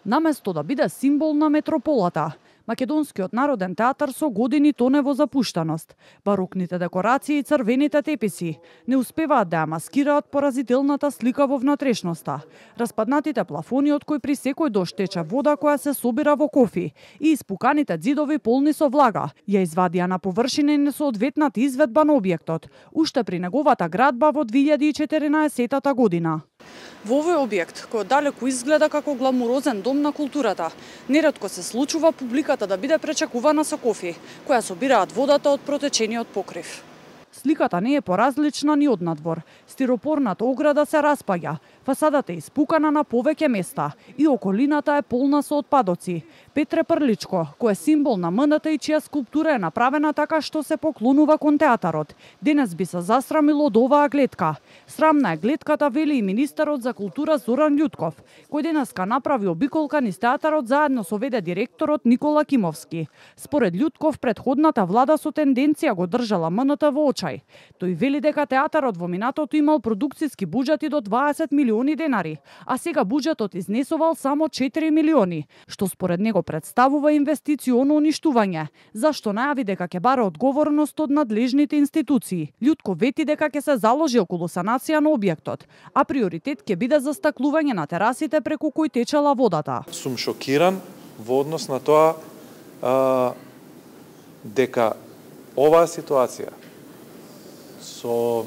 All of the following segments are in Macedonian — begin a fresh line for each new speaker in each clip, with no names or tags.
Наместо да биде символ на метрополата, Македонскиот народен театар со години тоне во запуштаност. Барокните декорации и црвените теписи не успеваат да ја маскираат поразителната слика во внатрешноста. Распаднатите плафони од кои при секој дожд тече вода која се собира во кофи и испуканите ѕидови полни со влага ја извадија на површина несоодветната изведба на објектот, уште при неговата градба во 2014 година. Во овој објект, кој далеку изгледа како гламурозен дом на културата, неретко се случува публиката да биде пречекувана со кофи, која собираат водата од протечениот покрив. Сликата не е поразлична ни однадвор. Стиропорната ограда се распаѓа, фасадата е испукана на повеќе места и околината е полна со отпадоци. Петре Прличко, кој е символ на МНТ и чија скулптура е направена така што се поклонува кон театарот, денес би се засрамил од оваа гледка. Срамна е гледката, вели и министерот за култура Зоран Љутков, кој денеска направи обиколка низ театарот заедно со ВД директорот Никола Кимовски. Според Љутков, предходната влада со тенденција го држала МНТ во очај. Тој вели дека театарот во минатото имал продукциски буџети до 20 милиони денари, а сега буџетот изнесувал само 4 милиони, што според него представува инвестиционо уништување, зашто најави дека ќе бара одговорност од надлежните институции. Љутков вети дека ќе се заложи околу санација на објектот, а приоритет ќе биде застаклување на терасите преку кои течела водата.
Сум шокиран во однос на тоа дека оваа ситуација со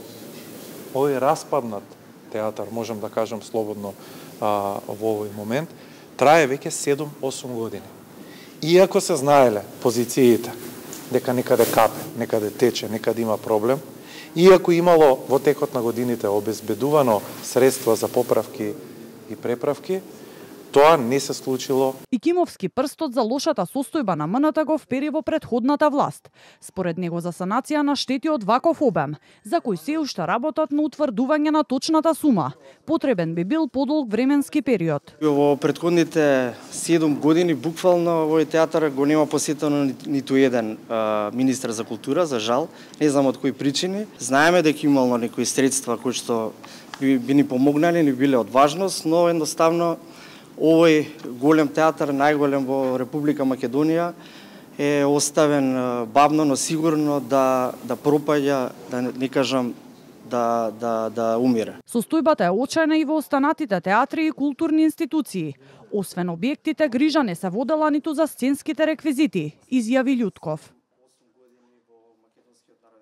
овој распаднат театар, можам да кажам слободно во овој момент, трае веќе 7-8 години. Иако се знаеле позициите дека некаде капе, некаде тече, некаде има проблем, иако имало во текот на годините обезбедувано средства за поправки и преправки, тоа не се случило.
И Кимовски прстот за лошата состојба на МНТ го впери во предходната власт. Според него за санација на штети од ваков обем, за кој се уште работат на утврдување на точната сума, потребен би бил подолг временски период.
Во предходните 7 години буквално овој театар го нема посетено ниту еден министер за култура, за жал, не знам од кои причини. Знаеме дека имало некои средства кои што би ни помогнале, ни биле од важност, но едноставно овој голем театар, најголем во Република Македонија, е оставен бавно, но сигурно да пропаѓа, да не кажам да умира.
Состојбата е очајна и во останатите театри и културни институции. Освен објектите, грижа не се водела ниту за сценските реквизити, изјави Љутков.